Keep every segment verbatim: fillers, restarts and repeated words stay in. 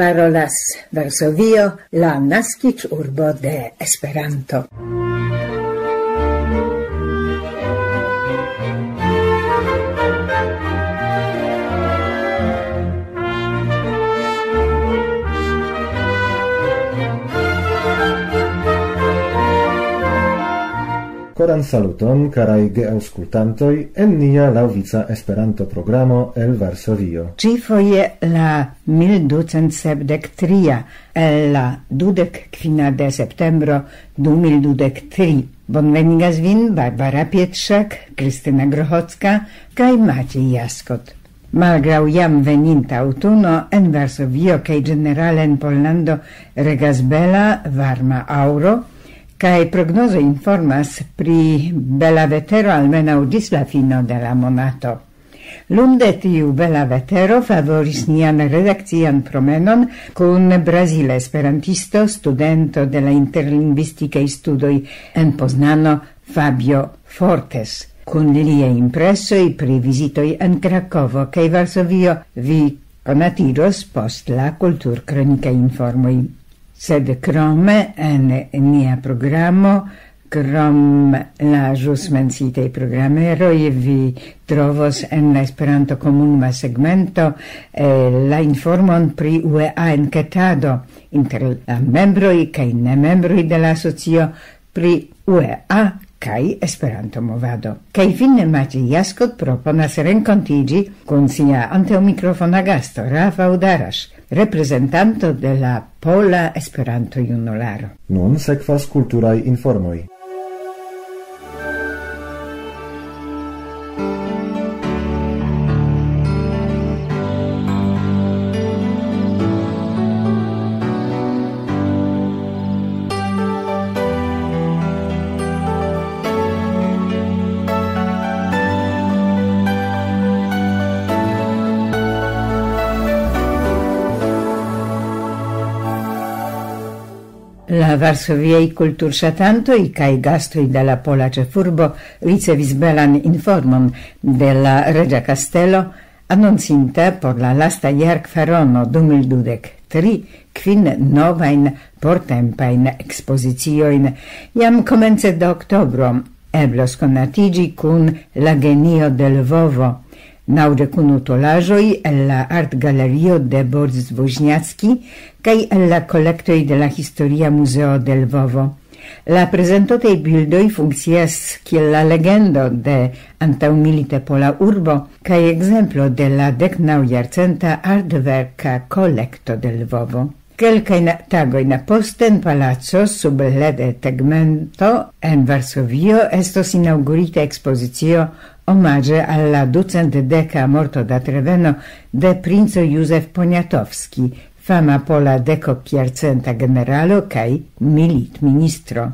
Parolas Varsovio, la naskiĝurbo de Esperanto. Koran saluton, karaj geaŭskultantoj, en nia laŭvica Esperanto-programo el Varsovio. Ĉifoje la mil ducent sepdek tria el la dudek kvina de septembro du mil dudek tri. Bonvenigas vin Barbara Pietrzak, Kristina Grochocka kaj Maciej Jaskot. Malgraŭ jam veninta aŭtuno, en Varsovio kaj ĝenerale en Pollando regas bela, varma aŭro, kaj prognozo informas pri bela vetero almenaŭ ĝis la fino de la monato. Lunde tiu bela vetero favoris nian redakcian promenon kun brazila esperantisto, studento de la interlingvistikaj studoj en Poznano, Fabio Fortes, kun liaj impresoj pri vizitoj en Krakovo kaj Varsovio vi konatiĝos post la kulturkronikaj informoj. Sed krome en nia programo, krom la ĵus menciitaj programeroj, vi trovos en la Esperanto-komunuma segmento, eh, la informon pri U E A enketado inter la membroj kaj nemembroj de la asocio pri U E A kaj Esperanto-movado. Kaj fine Maciej Jaskot proponas renkontiĝi kun sia antaŭmikrofona gasto Rafał Darasz, reprezentanto de la Pola Esperanto-Junularo. Nun sekvas kulturaj informoj. La varsoviaj kulturŝatantoj kaj gastoj de la pola ĉefurbo ricevis belan informon de la reĝa kastelo, anoncinte por la lasta jarkvarono du mil dudek tri kvin novajn portempajn ekspoziciojn. Jam komence de oktobro eblos konatiĝi kun La genio de Lvovo, naŭdek unu tolaĵoj el la artgalerio de Boris Woźniacki kaj el la kolektoj de la Historia Muzeo de Lvovo. La prezentotaj bildoj funkcias kiel la legendo de antaŭmilite pola urbo kaj ekzemplo de la deknaŭjarcenta artverka kolekto de Lvovo. Kelkajn tagojn poste en palaco sub lede tegmento en Varsovio estos inaŭgurita ekspozicio omaĝe al la ducent deka mortodatreveno de princo Józef Poniatowski, fama pola dekokjarcenta generalo kaj militministro.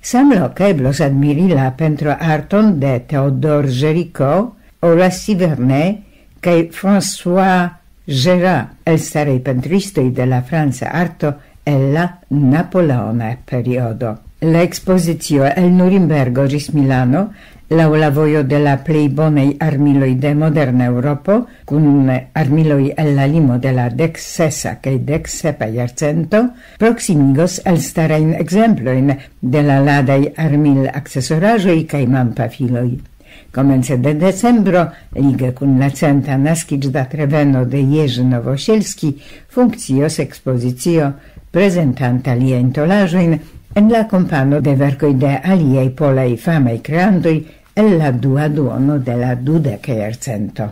Samloke eblos admiri la pentroarton de Théodore Géricault, Horace Vernet kaj François Gérard, elstaraj pentristoj de la franca arto el la napoleona periodo. La ekspozicio el Nurimbergo ĝis Milano, laŭ la vojo de la plej bonaj armiloj de moderna Eŭropo, kun armiloj el la limo de la deksesa kaj deksepa jarcento, proksimigos elstarajn ekzemplojn de la ladaj armil-aksesoraĵoj kaj manpafiloj. Komence de decembro, lige kun la centa naskiĝdatreveno de Jerzy Nowosielski, funkcios ekspozicio prezentanta liajn tolaĵojn en la kompano de verkoj de aliaj polaj famaj kreantoj el la dua duono de la dudeka jarcento.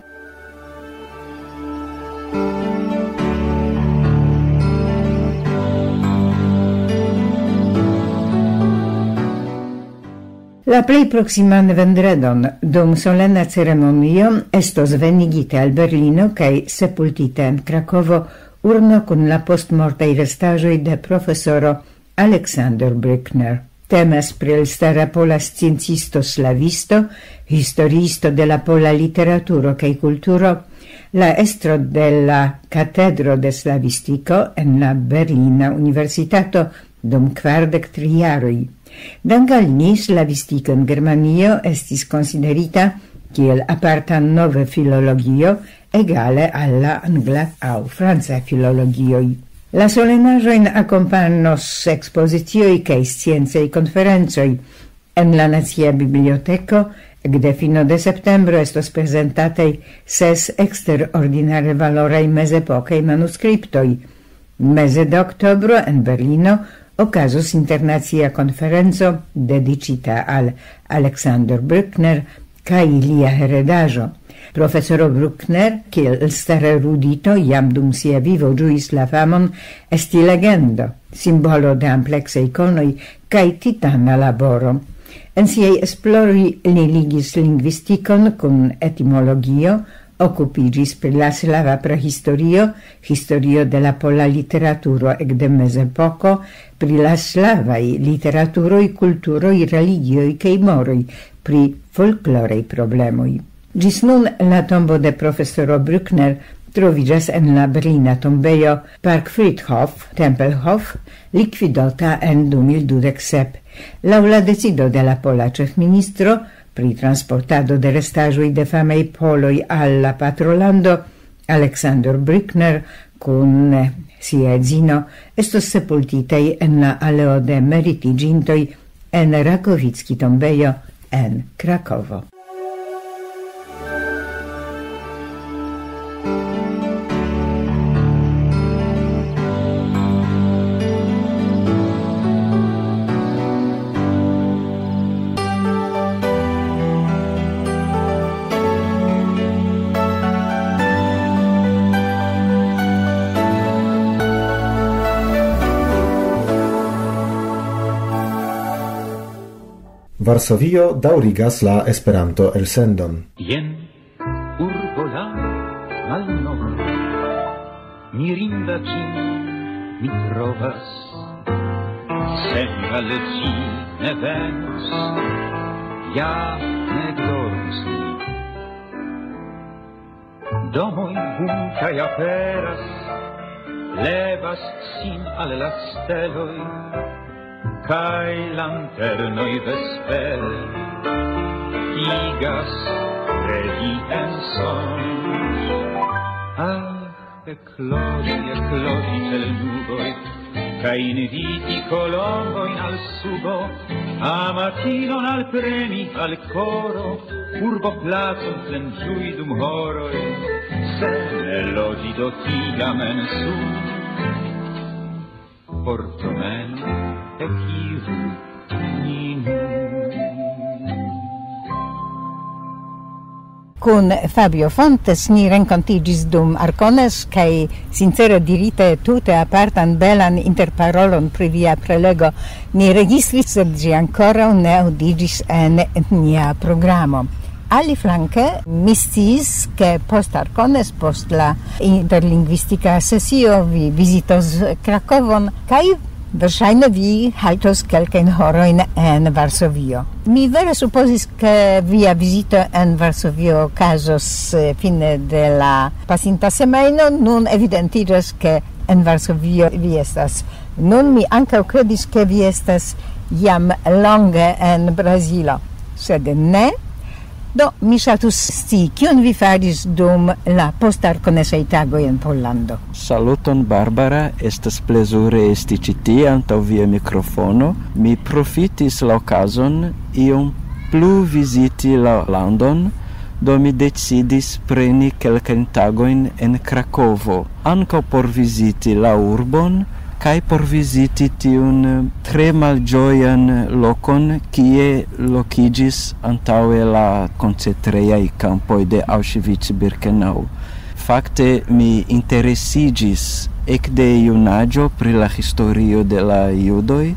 La plej proksiman vendredon, dum solena ceremonio, estos venigita al Berlino kaj sepultita en Krakovo urno kun la postmortaj restaĵoj de profesoro Alexander Brückner. Temas pri elstara pola sciencisto slavisto, historiisto de la pola literaturo kaj kulturo, la estro de la Katedro de Slavistiko en la Berlina Universitato dum kvardek tri jaroj. Dank al li, slavistiko en Germanio estis konsiderita kiel aparta nove filologio, egale al la angla aŭ franca filologioj. La solenaĵojn akompanos ekspozicioj kaj sciencaj konferencoj. En la Nacia Biblioteko ekde fino de septembro estos prezentataj ses eksterordinare valoraj mezepokaj manuskriptoj. Meze de oktobro en Berlino okazos internacia konferenco dediĉita al Alexander Bruckner kaj lia heredaĵo. Profesoro Bruckner, kiel elstara erudito, jam dum sia vivo ĝuis la famon esti legendo, simbolo de ampleksa ikonoj kaj titana laboro. En siaj esploroj li ligis lingvistikon kun etimologio, okupiĝis pri la slava prahistorio, historio de la pola literaturo ekde mezepoko, pri la slavaj literaturoj, kulturoj, religioj kaj moroj, pri folkloraj problemoj. Ĝis nun la tombo de profesoro Bruckner troviĝas en la berlina tombejo Parkfriedhof, Tempelhof, likvidota en du mil dudek sep. Laŭ la decido de la pola ĉefministro pri transportado de restaĵoj de famaj poloj al la patrolando, Alexander Bruckner kun sia edzino estos sepultitaj en la aleo de meritiĝintoj en Rakowicki tombejo en Krakovo. Varsovio daŭrigas la Esperanto-elsendon. Jen urbo la malnova, mirinda ĝin mi trovas. Sen al ĝi ne venos, ja ne dormus ni. Domoj buntaj aperas, levas sin al la steloj, kaj lanternoj vespere igas regi en sonĝ. Ah, ekloĝi, ekloĝi ĉe l' nuboj, kaj inviti kolombojn al subo, amatinon alpremi al koro, urboplacon plenĝui dum horoj, se ne loĝi do tiam en sud. Por promeno ekiru ni nun. Kun Fabio Fontes ni renkontiĝis dum Arcones, kaj sincere dirite tute apartan belan interparolon pri via prelego ni registris, sed ĝi ankoraŭ ne aŭdiĝis en nia programo. Aliflanke, mi sciis, ke post Arcones, post la interlingvistika sesio, vi vizitos Krakovon, kaj verŝajne vi haltos kelkajn horojn en Varsovio. Mi vere supozis, ke via vizito en Varsovio okazos, eh, fine de la pasinta semajno. Nun evidentiĝas, ke en Varsovio vi estas. Nun mi ankaŭ kredis, ke vi estas jam longe en Brazilo, sed ne. Do, mi ŝatus scii, kion vi faris dum la postarkonesaj tagoj en Pollando. Saluton, Barbara, estas plezure esti ĉi tie antaŭ via mikrofono. Mi profitis la okazon iom plu viziti la landon, do mi decidis preni kelkajn tagojn en Krakovo, ankaŭ por viziti la urbon, kaj por viziti tiun tre malĝojan lokon, kie lokiĝis antaŭe la koncentrejaj kampoj de Auschwitz-Birkenau. Fakte mi interesiĝis ekde junaĝo pri la historio de la judoj,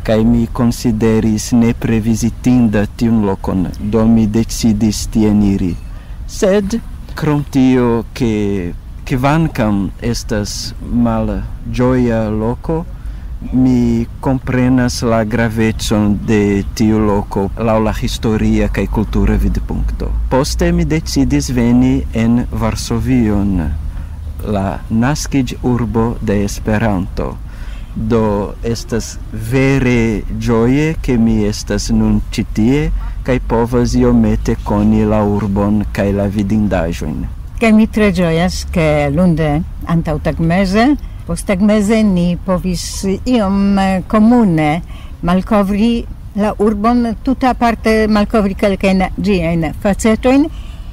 kaj mi konsideris nepre vizitinda tiun lokon, do mi decidis tien iri. Sed krom tio, ke kvankam estas malĝoja loko, mi komprenas la gravecon de tiu loko laŭ la historia kaj kultura vidpunkto. Poste mi decidis veni en Varsovion, la naskiĝurbo de Esperanto. Do estas vere ĝoje, ke mi estas nun ĉi tie, kaj povas iomete koni la urbon kaj la vidindaĵojn. Kaj mi tre ĝojas, ke lunde antaŭtagmeze, posttagmeze ni povis iom, eh, komune malkovri la urbon, tute aparte malkovri kelkajn ĝiajn facetojn,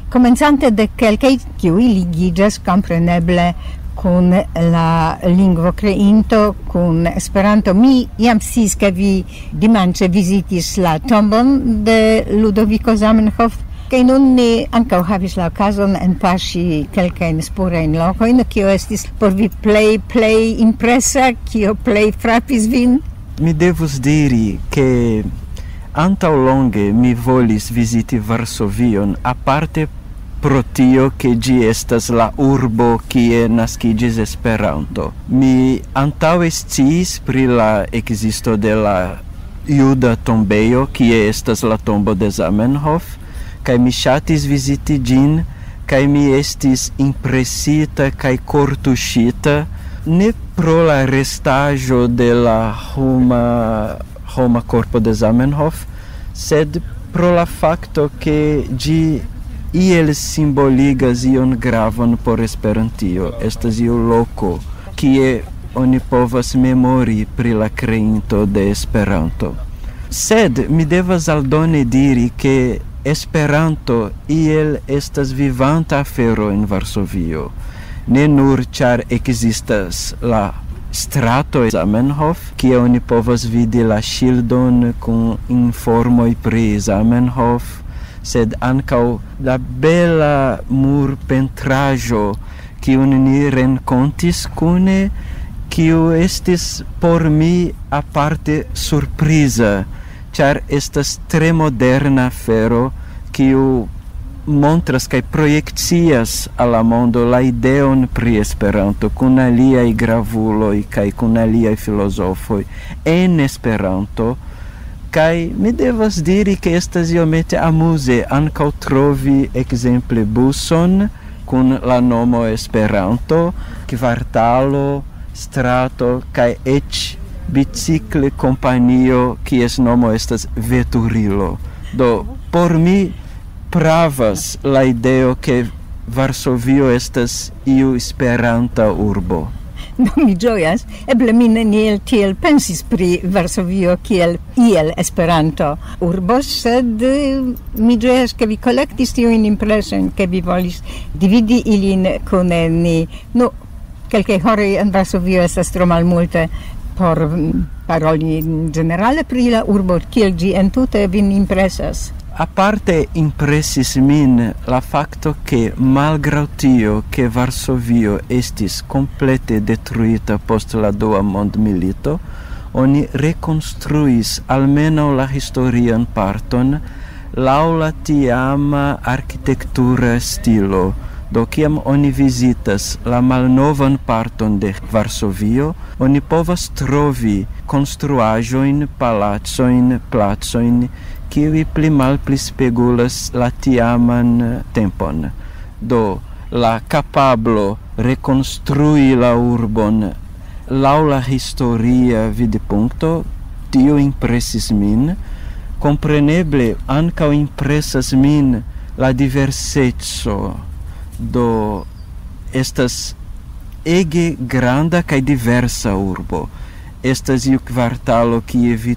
komencante de kelkaj, kiuj ligiĝas kompreneble kun la lingvo kreinto, kun Esperanto. Mi jam sciis, ke vi dimanĉe vizitis la tombon de Ludoviko Zamenhof, kaj nun ni ankaŭ havis la okazon enpaŝi kelkajn spurajn lokojn. Kio estis por vi plej, plej impresa, kio plej frapis vin? Mi devus diri, ke antaŭ longe mi volis viziti Varsovion, aparte pro tio, ke ĝi estas la urbo, kie naskiĝis Esperanto. Mi antaŭe sciis pri la ekzisto de la juda tombejo, kie estas la tombo de Zamenhof, kaj mi ŝatis viziti ĝin, kaj mi estis impresita kaj kortuŝita, ne pro la restaĵo de la homa, homa korpo de Zamenhof, sed pro la fakto, ke ĝi iel simboligas ion gravon por Esperantio. Estas iu loko, kie oni povas memori pri la kreinto de Esperanto. Sed mi devas aldone diri, ke Esperanto iel estas vivanta afero en Varsovio. Ne nur ĉar ekzistas la strato Zamenhof, kie oni povas vidi la ŝildon kun informoj pri Zamenhof, sed ankaŭ la bela murpentraĵo, kiun ni renkontis kune, kiu estis por mi aparte surpriza, ĉar estas tre moderna afero, kiu montras kaj projekcias al la mondo la ideon pri Esperanto kun aliaj gravuloj kaj kun aliaj filozofoj en Esperanto. Kaj mi devas diri, ke estas iomete amuze ankaŭ trovi ekzemple buson kun la nomo Esperanto, kvartalo, strato kaj eĉ bicikle kompanio, kies nomo estas Veturilo. Do, por mi pravas la ideo, ke Varsovio estas iu esperanta urbo. Do, mi ĝojas, eble mi neniel tiel pensis pri Varsovio kiel iel Esperanto urbo, sed, eh, mi ĝojas, ke vi kolektis tiujn impresojn, ke vi volis dividi ilin kun ni. Nu, kelkaj horoj en Varsovio estas tro malmulte por, mm, paroli ĝenerale pri la urbo, kiel ĝi entute vin impresas. Aparte impresis min la fakto, ke malgraŭ tio, ke Varsovio estis komplete detruita post la Dua Mondmilito, oni rekonstruis almenaŭ la historian parton laŭ la tiama arkitektura stilo. Do, kiam oni vizitas la malnovan parton de Varsovio, oni povas trovi konstruaĵojn, palacojn, placojn, kiuj pli malpli spegulas la tiaman tempon. Do, la kapablo rekonstrui la urbon laŭ la historia vidpunkto, tio impresis min. Kompreneble ankaŭ impresas min la diverseco. Do, estas ege granda kaj diversa urbo. Estas iu kvartalo, kie vi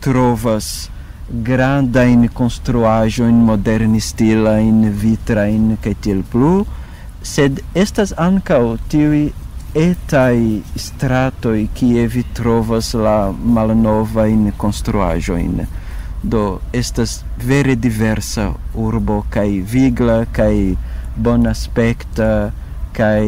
trovas grandajn konstruaĵojn modernistilajn, vitrajn kaj tiel plu, sed estas ankaŭ tiuj etaj stratoj, kie vi trovas la malnovajn konstruaĵojn. Do, estas vere diversa urbo, kaj vigla, kaj bonaspekta, kaj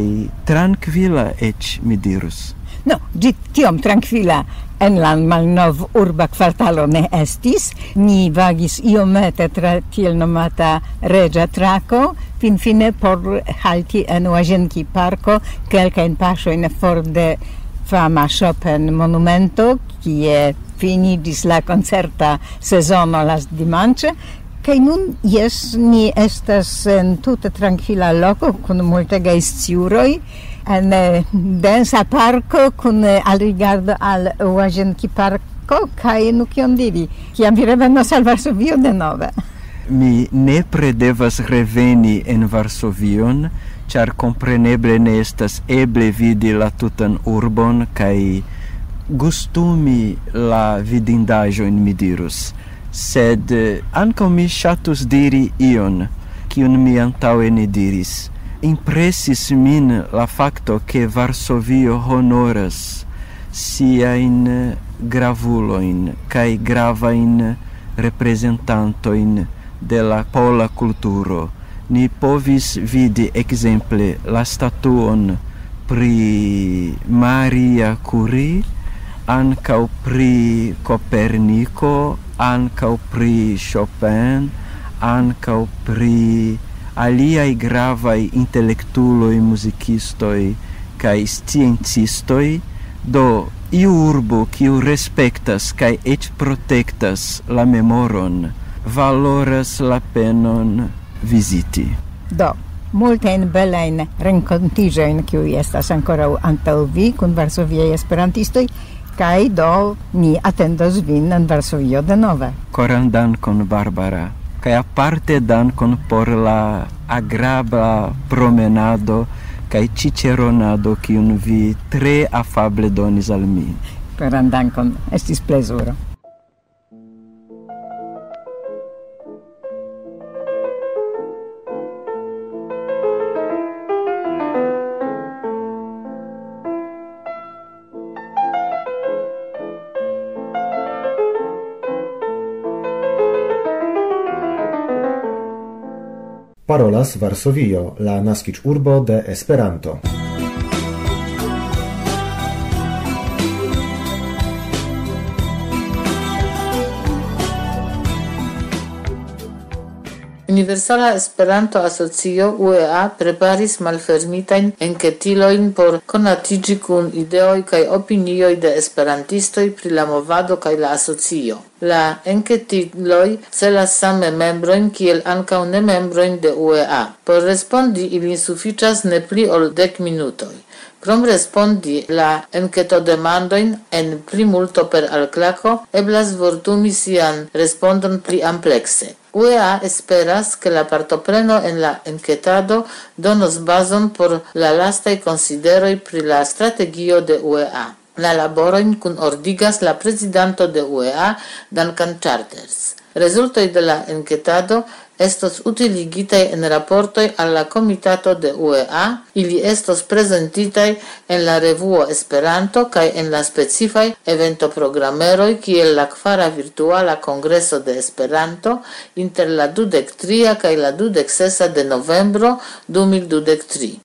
trankvila eĉ, mi dirus. No, ĝi tiom trankvila en la malnov urba kvartalo ne estis. Ni vagis iomete tra tiel nomata Reĝa Trako, finfine por halti en Łazienki Parko, kelkajn paŝojn for de fama Chopin monumento, kie finiĝis la koncerta sezono lastdimanĉe. Kaj nun, jes, ni estas en tute trankvila loko kun multegaj sciuroj, en, eh, densa parko kun, eh, alrigardo al Łazienki Parko, kaj nu kion diri, kiam vi revenos al Varsovio denove? Mi nepre devas reveni en Varsovion, ĉar kompreneble ne estas eble vidi la tutan urbon kaj gustumi la vidindaĵojn, mi dirus. Sed, eh, ankaŭ mi ŝatus diri ion, kiun mi antaŭe ne diris. Impresis min la fakto, ke Varsovio honoras siajn gravulojn kaj gravajn reprezentantojn de la pola kulturo. Ni povis vidi ekzemple la statuon pri Maria Curie, ankaŭ pri Koperniko, ankaŭ pri Chopin, ankaŭ pri aliaj gravaj intelektulo-muzikistoj kaj sciencistoj. Do, iu urbo, kiu respektas kaj eĉ protektas la memoron, valoras la penon viziti. Do, multajn belajn renkontiĝojn, kiuj estas ankoraŭ antaŭ vi kun Varsoviaj Esperantistoj, kaj do ni atendos vin en Varsovio denove. Koran dankon, Barbara, kaj aparte dankon por la agrabla promenado kaj ĉiĉeronado, kiun vi tre afable donis al mi. Koran dankon, estis plezuro. Parolas Varsovio, la naskiĝurbo de Esperanto. Universala Esperanto-Asocio, U E A, preparis malfermitajn enketilojn por konatiĝi kun ideoj kaj opinioj de esperantistoj pri la movado kaj la asocio. La enketiloj celas same membrojn kiel ankaŭ nemembrojn de U E A. Por respondi ilin sufiĉas ne pli ol dek minutoj. Krom respondi la enketodemandojn en plimulto per alklako, eblas vortumi sian respondon pli amplekse. U E A esperas, ke la partopreno en la enketado donos bazon por la lastaj konsideroj pri la strategio de U E A. La laborojn kunordigas la prezidanto de U E A, Duncan Charters. Rezultoj de la enketado estos utiligitaj en raportoj al la komitato de U E A. Ili estos prezentitaj en la revuo Esperanto kaj en la specifaj eventoprogrameroj, kiel la kvara virtuala kongreso de Esperanto inter la dudek tria kaj la dudek sesa de novembro du mil dudek tri.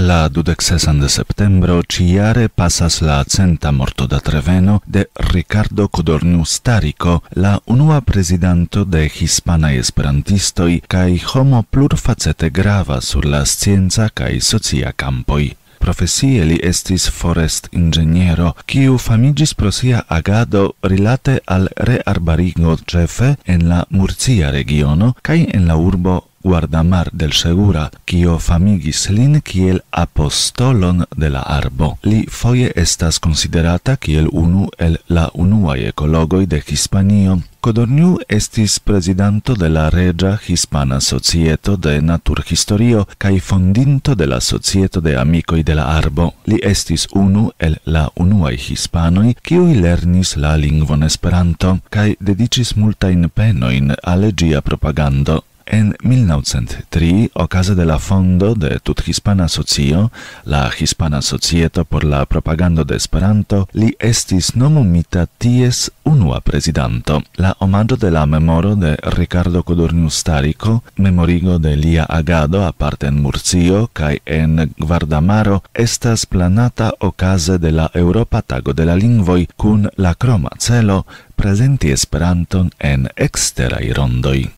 La dudek sesan de septembro ĉiare pasas la centa mortodatreveno de Ricardo Codorniu Starico, la unua prezidanto de hispanaj esperantistoj kaj homo plurfacete grava sur la scienca kaj socia kampoj. Profesie li estis forestinĝeniero, kiu famiĝis pro sia agado rilate al rearbarigo, ĉefe en la Murcia regiono kaj en la urbo Guardamar del Segura, kio famigis lin kiel apostolon de la arbo. Li foje estas konsiderata kiel unu el la unuaj ekologoj de Hispanio. Codorniu estis prezidanto de la Reĝa Hispana Societo de Naturhistorio kaj fondinto de la Societo de Amikoj de la Arbo. Li estis unu el la unuaj hispanoj, kiuj lernis la lingvon Esperanto kaj dediĉis multajn penojn al ĝia propagando. En mil naŭcent tri, okaze de la fondo de Tuthispana Asocio, la Hispana Societo por la Propagando de Esperanto, li estis nomumita ties unua prezidanto. La omaĝo de la memoro de Ricardo Codorniu Starico, memorigo de lia agado aparte en Murcio kaj en Guardamaro, estas planata okaze de la Eŭropa Tago de la Lingvoj kun la kroma celo prezenti Esperanton en eksteraj rondoj.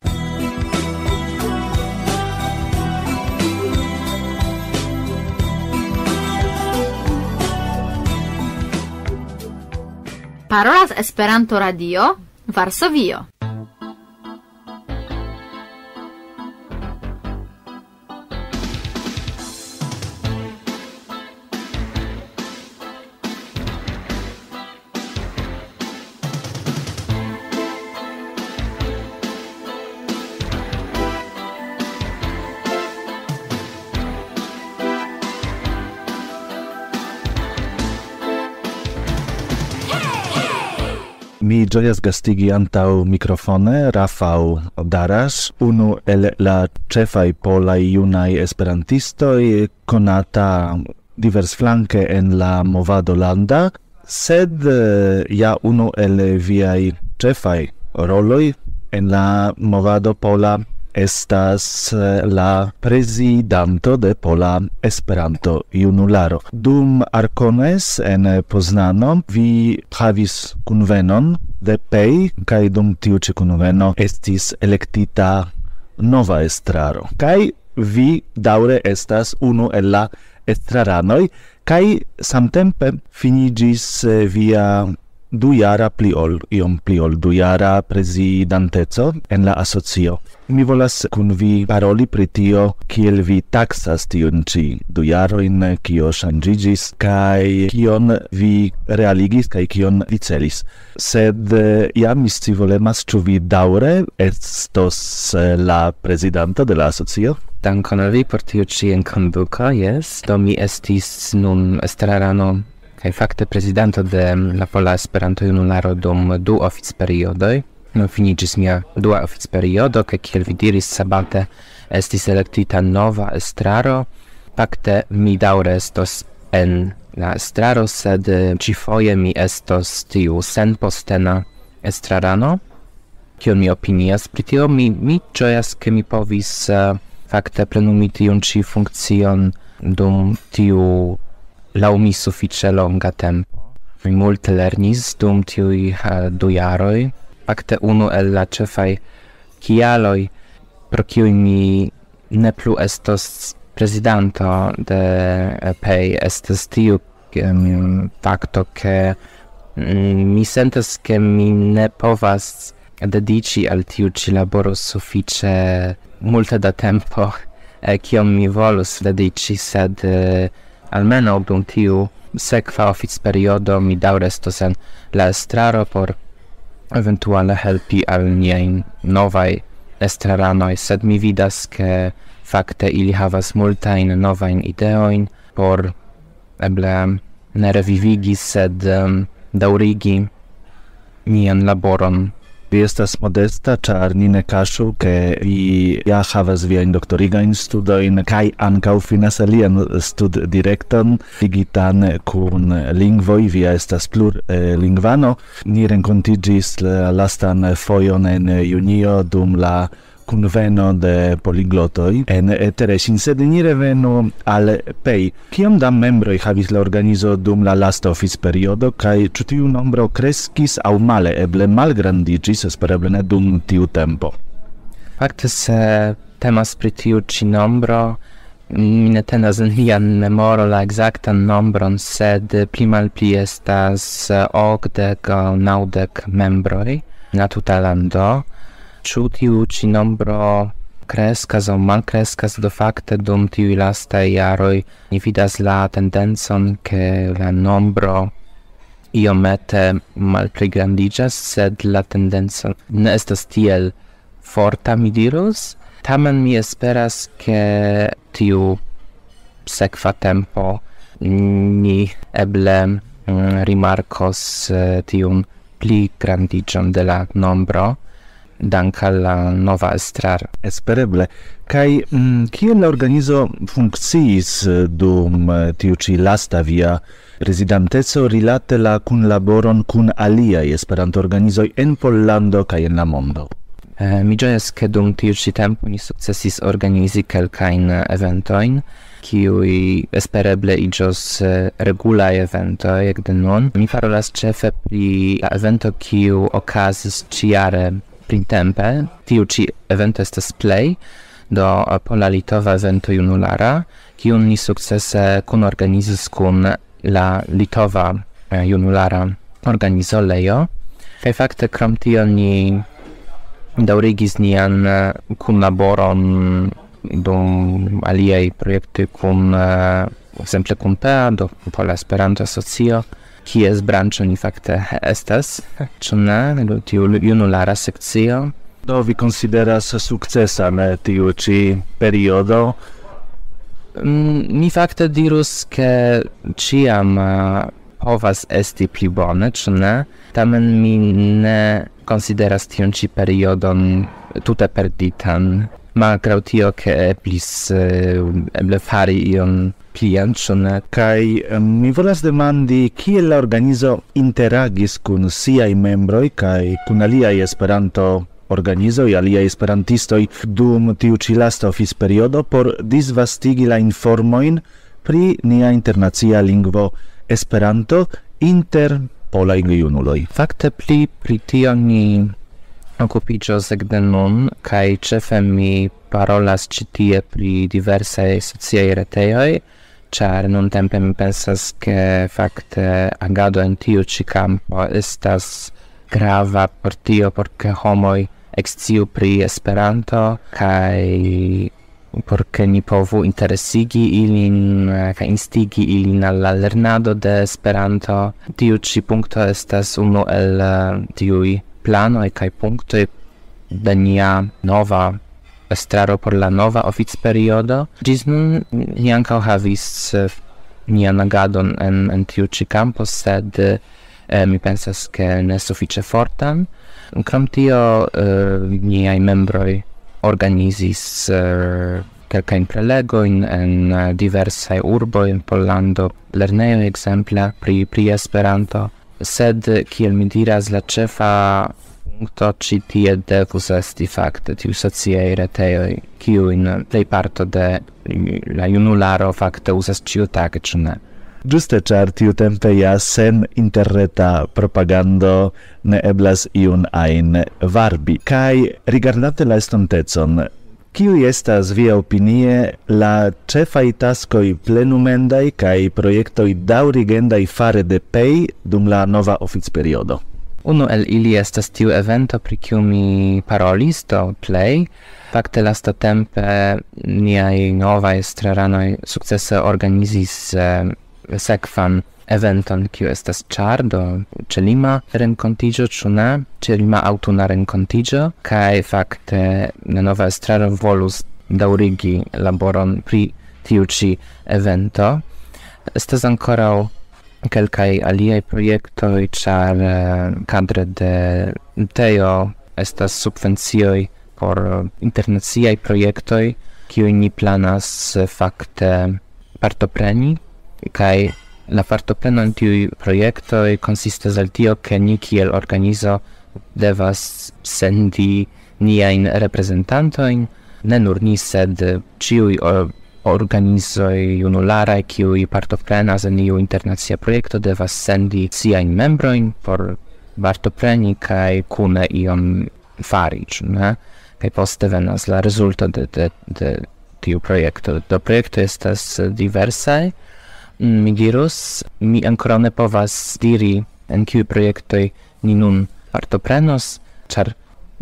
Parolas Esperanto Radio, Varsovio. Mi ĝojas gastigi antaŭ mikrofone Rafał Darasz, unu el la ĉefaj polaj junaj esperantistoj, konata diversflanke en la movado landa, sed eh, ja unu el viaj ĉefaj roloj en la movado pola estas eh, la prezidanto de Pola Esperanto Junularo. Dum Arcones en Poznano vi havis kunvenon de pei, kaj dum tiu ĉi kunveno estis elektita nova estraro. Kaj vi daŭre estas unu el la estraranoj, kaj samtempe finiĝis eh, via dujara pli ol, iom pli ol dujara prezidanteco en la asocio. Mi volas kun vi paroli pri tio, kiel vi taksas tiun ĉi dujarojn, kio ŝanĝiĝis, kaj kion vi realigis, kaj kion vi celis. Sed eh, ja mi scivolemas, ĉu vi daŭre estos eh, la prezidanto de la asocio? Dankon al vi por tiu ĉi enkonduko, jes. Do mi estis nun estrarano kaj fakte prezidanto de la Pola Esperanto-Junularo dum du oficperiodoj. Nun finiĝis mia dua oficperiodo, kaj kiel vi diris, sabate estis elektita nova estraro. Fakte mi daŭre estos en la estraro, sed eh, ĉifoje mi estos tiu senpostena estrarano. Kion mi opinias pri tio? Mi, mi ĝojas, ke mi povis eh, fakte plenumi tiun ĉi funkcion dum tiu laŭ mi sufiĉe longa tempo. Mi multe lernis dum tiuj eh, du jaroj. Fakte unu el la ĉefaj kialoj, pro kiuj mi ne plu estos prezidanto de eh, pei, estas tiu em, fakto, ke mm, mi sentas, ke mi ne povas dediĉi al tiu ĉi laboro sufiĉe multe da tempo, eh, kiom mi volus dediĉi, sed eh, almenaŭ dum tiu sekva oficperiodo mi daŭre estos en la estraro por eventuale helpi al niajn novaj estraranoj, sed mi vidas, ke fakte ili havas multajn novajn ideojn por eble ne revivigi, sed em, daŭrigi nian laboron. Vi estas modesta, ĉar ni ne kaŝu, ke vi ja havas viajn doktorigajn studojn kaj ankaŭ finas alian studdirekton ligitan kun lingvoj. Vi ja estas plurlingvano. Ni renkontiĝis la lastan fojon en junio dum la kunveno de poliglotoj en eh, Teresin, sed ni revenu al pei. Kiom da membroj havis la organizo dum la lasta oficperiodo, kaj ĉu tiu nombro kreskis aŭ male, eble malgrandiĝis, espereble ne dum tiu tempo? Fakte, se temas pri tiu ĉi nombro, mi ne tenas en mia memoro la ekzaktan nombron, sed pli malpli estas eh, okdek aŭ naŭdek membroj en la tuta lando. Ĉu tiu ĉi nombro kreskas aŭ malkreskas? Do fakte dum tiuj lastaj jaroj ni vidas la tendencon, ke la nombro iomete malpligrandiĝas, sed la tendenco ne estas tiel forta, mi dirus. Tamen mi esperas, ke tiu sekva tempo ni eble mm, rimarkos eh, tiun pli grandiĝon de la nombro, dank al la nova estraro. Espereble. Kaj mm, kiel la organizo funkciis eh, dum eh, tiu ĉi lasta via prezidanteco rilate la kunlaboron kun aliaj Esperanto-organizoj en Pollando kaj en la mondo? Eh, mi ĝojas, ke dum tiu ĉi tempo ni sukcesis organizi kelkajn eh, eventojn, kiuj espereble iĝos eh, regulaj eventoj ekde nun. Mi parolas ĉefe pri la evento, kiu okazis ĉiare printempe. Tiu ĉi evento estas plej do eh, Pola Litova Evento Junulara, kiun ni sukcese kunorganizis kun la Litova eh, Junulara Organizo Lejo. Kaj fakte krom tio ni daŭrigis nian eh, kunlaboron dum aliaj projektoj kun eh, ekzemple kun pea, do Pola Esperanto Asocio, kies branĉo ni fakte estas, ĉu ne, tiu junulara sekcio. Do vi konsideras sukcesan eh, tiu ĉi periodo? Mm, mi fakte dirus, ke ĉiam eh, povas esti pli bone, ĉu ne? Tamen mi ne konsideras tiun ĉi periodon tute perditan, malgraŭ tio, ke eblis, eh, eble fari ion plian, ĉu ne? Kaj, em, mi volas demandi, kiel la organizo interagis kun siaj membroj kaj kun aliaj Esperanto-organizoj, aliaj esperantistoj dum tiu ĉi lasta oficperiodo por disvastigi la informojn pri nia internacia lingvo Esperanto inter polaj gejunuloj. Fakte pli pri tio ni okupiĝos ekde nun, kaj ĉefe mi parolas ĉi tie pri diversaj sociaj retejoj, ĉar nuntempe mi pensas, ke fakte agado en tiu ĉi kampo estas grava por tio, por ke homoj eksciu pri Esperanto, kaj por ke ni povu interesigi ilin, eh, kaj instigi ilin al la lernado de Esperanto. Tiu ĉi punkto estas unu el, eh, tiuj planoj kaj punktoj de nia nova estraro por la nova oficperiodo. Ĝis nun ni ankaŭ havis, eh, nian agadon en, en tiu ĉi kampo, sed, eh, mi pensas, ke ne sufiĉe fortan. Krom tio, eh, niaj membroj organizis, eh, kelkajn prelegojn en, eh, diversaj urboj en Pollando, lernejoj ekzemple pri, pri Esperanto. Sed, kiel mi diras, la ĉefa punkto ĉi tie devus esti fakte tiu sociaj retejoj, kiujn plejparto de la junularo fakte uzas ĉiutage, ĉu ne? Ĝuste, ĉar tiutempe ja sen interreta propagando ne eblas iun ajn varbi. Kaj rigardante la estontecon, kiuj estas, via opinie, la ĉefaj taskoj plenumendaj kaj projektoj daŭrigendaj fare de Pej dum la nova oficperiodo? Unu el ili estas tiu evento, pri kiu mi parolis, do plej. Fakte, lastatempe niaj novaj estraranoj sukcese organizis, eh, sekvan eventon, kiu estas ĉar, do, ĉelima renkontiĝo, ĉu ne? Ĉelima aŭtuna renkontiĝo, kaj fakte la nova estraro volus daŭrigi laboron pri tiu ĉi evento. Estas ankoraŭ kelkaj aliaj projektoj, ĉar, eh, kadre de Teo estas subvencioj por internaciaj projektoj, kiujn ni planas, eh, fakte partopreni, kaj la partopreno en tiuj projektoj konsistas el tio, ke ni kiel organizo devas sendi niajn reprezentantojn, ne nur ni, sed ĉiuj, o-, organizoj junularaj, kiuj partoprenas en iu internacia projekto, devas sendi siajn membrojn por partopreni kaj kune ion fari, ĉu ne? Kaj poste venas la rezulto de, de, de tiu projekto. Do projektoj estas diversaj. Mm, mi dirus, mi ankoraŭ ne povas diri, en kiuj projektoj ni nun partoprenos, ĉar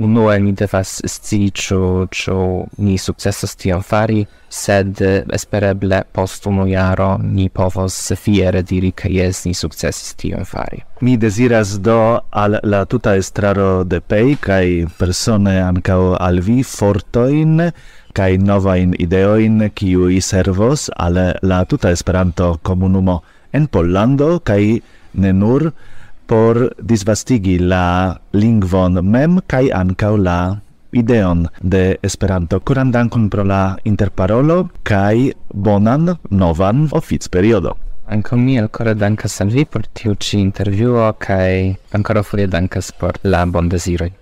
unue ni devas scii, ĉu, ĉu ni sukcesos tion fari, sed, eh, espereble post unu jaro ni povos fiere diri, ke jes, ni sukcesis tion fari. Mi deziras do al la tuta estraro de Pej kaj persone ankaŭ al vi fortojn kaj novajn ideojn, kiuj servos al la tuta Esperanto-komunumo en Pollando kaj ne nur, por disvastigi la lingvon mem kaj ankaŭ la ideon de Esperanto. Koran dankon pro la interparolo kaj bonan novan oficperiodo. Ankaŭ mi elkore dankas al vi por tiu ĉi intervjuo kaj ankoraŭfoje dankas por la bondeziroj.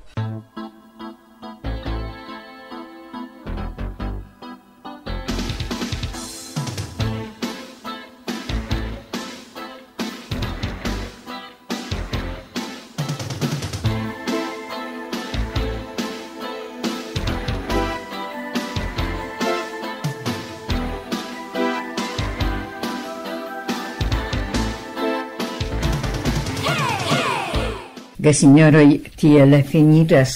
Gesinjoroj, tiel finiĝas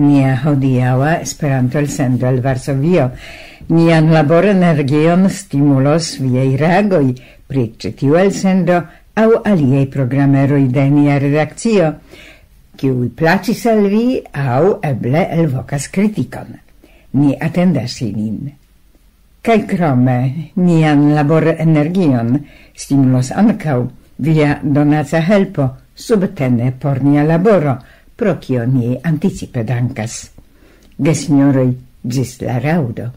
nia hodiaŭa Esperanto-elsendo el Varsovio. Nian laborenergion stimulos viaj reagoj pri ĉi tiu elsendo aŭ aliaj programeroj de nia redakcio, kiuj plaĉis al vi aŭ eble elvokas kritikon. Ni atendas ilin. Kaj krome, nian laborenergion stimulos ankaŭ Via donaca helpo subtene por nia laboro, pro kio ni anticipe dankas. Gesinjoroj, ĝis la raŭdo.